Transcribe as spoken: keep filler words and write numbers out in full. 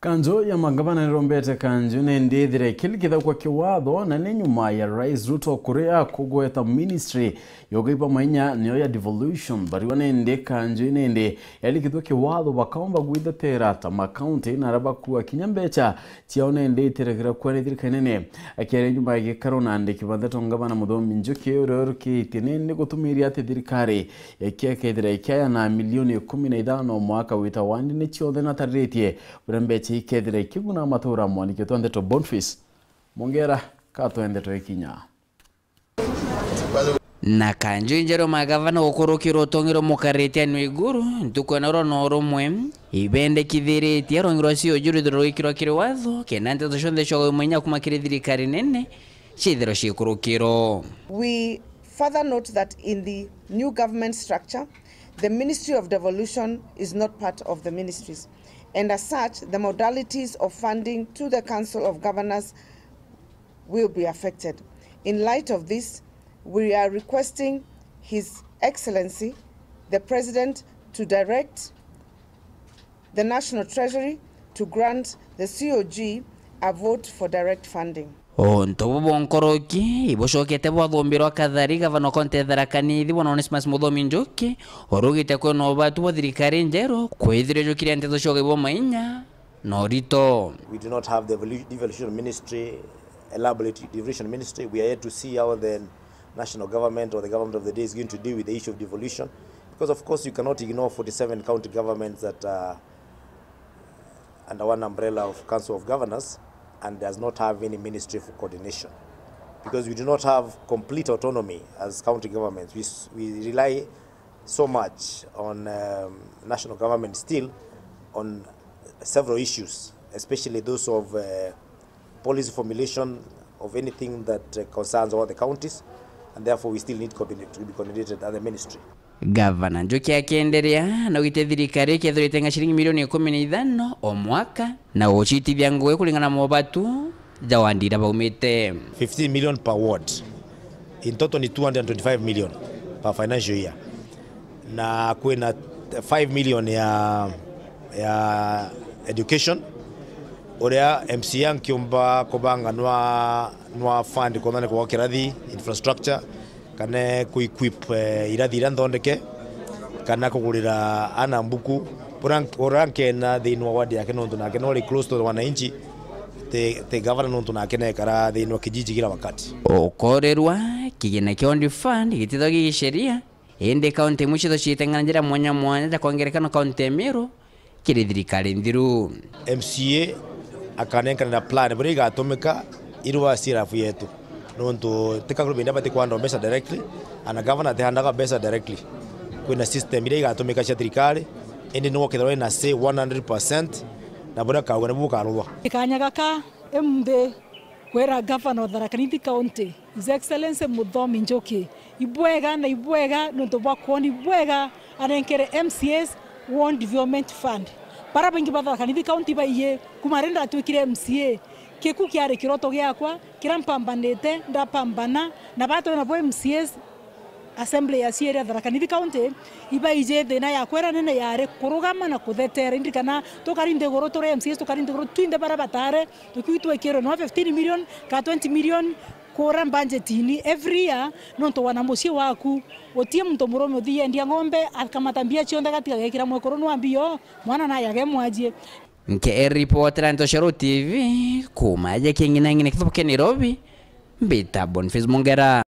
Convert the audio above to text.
Kanju ya magavana nirombete kanju nindi ithire ikirikithagua kiwatho, na ni nyuma ya Rais Ruto kuria kugweta ministry ya ugai bwa mainya niyo ya devolution. Bariwa nindi kanju nindi yarikithua kiwatho bakaomba gwithetera ta makaunti na aria bakua kinya mbecha ciao nindi itiragira kuria ni thirikari nene. Akiaria nyuma ya gikaro na andiki ba ndeto, ngavana Muthomi Njuki uria urukitie nindi gutumiria ati thirikari ikia kethira ikiayana milioni ikumi na ithano mwaka wita wandi ni ciothe natariritie buria mbecha ikethira ikiguna matura. Mwaniki wetu wa ndeto Boniface Mongera katwende twikinya. Na kanju injeru magavana gukurukirwa utong'ero mukarite anwe iguru ntuku ya noro na urumwe ibendekithiritie rwongi rwa C O G rwithirwe rwikirwa kiri watho, kenda nteto cionthe cia ugai bwa mainya kuma kiri thirikari nene ciithirwa ciikurukirwa. We further note that in the new government structure, the Ministry of Devolution is not part of the ministries, and as such, the modalities of funding to the Council of Governors will be affected. In light of this, we are requesting His Excellency, the President, to direct the National Treasury to grant the C O G a vote for direct funding. Untu bubu bunkoroki ibucokete bwathumbirwa kathari gavana wa kaunti ya Tharaka Nithi, bwana Onesmus Muthomi Njuki, urugite kwina ubatu bwa thirikari njeru kwithirwa ijukiria nteto cia ugai bwa mainya na urito. We do not have the devolu-, devolution ministry, elaborate devolution ministry. We are yet to see how the national government or the government of the day is going to deal with the issue of devolution. Because of course you cannot ignore forty-seven county governments that are under one umbrella of Council of Governors and does not have any ministry for coordination. Because we do not have complete autonomy as county governments. We, s-, we rely so much on, um, national government still on several issues, especially those of, uh, policy formulation of anything that, uh, concerns all the counties, and therefore we still need coordinate, to be coordinated at the ministry. Gavana Njuki akienderea naugite thirikari ikethirwa itenga ciringi milioni ikumi na ithano o mwaka na gucitithia ngugi kuringana na mobatu ja wandi iria baumite. Fifteen million per ward. In total ni two hundred and twenty-five million per financial year. Na kwina five million ya, ya education, uria M C A nkiumba kubanga nwa, nwa fund kuthondeka gwa kirathi, infrastructure, kana ku equip, eh, irathi iria nthondeke, kana kugurira ana mbuku. Uria nk-, uria nkena thiini wa ward yake nontu nake no ari close to wananchi, ti, ti gavana nontu nake nekara thiini wa kijiji kila wakati. Ukorirwa kigina kia Old Fund gitithagwa gigisheria, indi kaunti imwe ciithagwa ciiteng'ana njira mwanya mwanya ja kwa ngerekano kaunti ya Meru kiri thirikari nthiru. M C A akanenkanira plan buria igatumika irua C R F yetu. Nontu ti ka group india bati kwandwa mbeca directly, ana governor atihandaga mbeca directly. Kwina system iria igatumika cia thirikari, indi niwe ukethirwa wina say one hundred percent, na buria kauga nibu bukaruthwa. Kanya gaka M D kwira Governor of Tharaka Nithi County, His Excellency Muthomi Njuki, ibwega na ibwega nontu bwa kwona ibwega anenkere M C As Ward Development Fund. Bara baingi ba Tharaka Nithi County baiji, kuma riria ndatwikire M C A, kiku kiari kiroto giakwa, kiria mpambanite, ndapambana, na batwe nabo M C As, Assembly ya Ciiri ya Tharaka Nithi County, ibaiji thina yakwa iria nene yari kurugama na kutheteera. Indi kana tukari nthiguru turi M C As, tukari nthiguru twinthe bara batare, tukiu twikirwe no fifteen million ka twenty million kura mbanjetini every year, nontu wana mucii waku, utie muntu murume uthi yendia ng'ombe, akamata mbia cionthe agatiga agekira mwekuru nwa mbio, mwana naye agemwajie. Nke ripotera nto cia Ruo T V, kuma aje king'ina ng'ina kithubu kia Nairobi, mbita Boniface Mongera.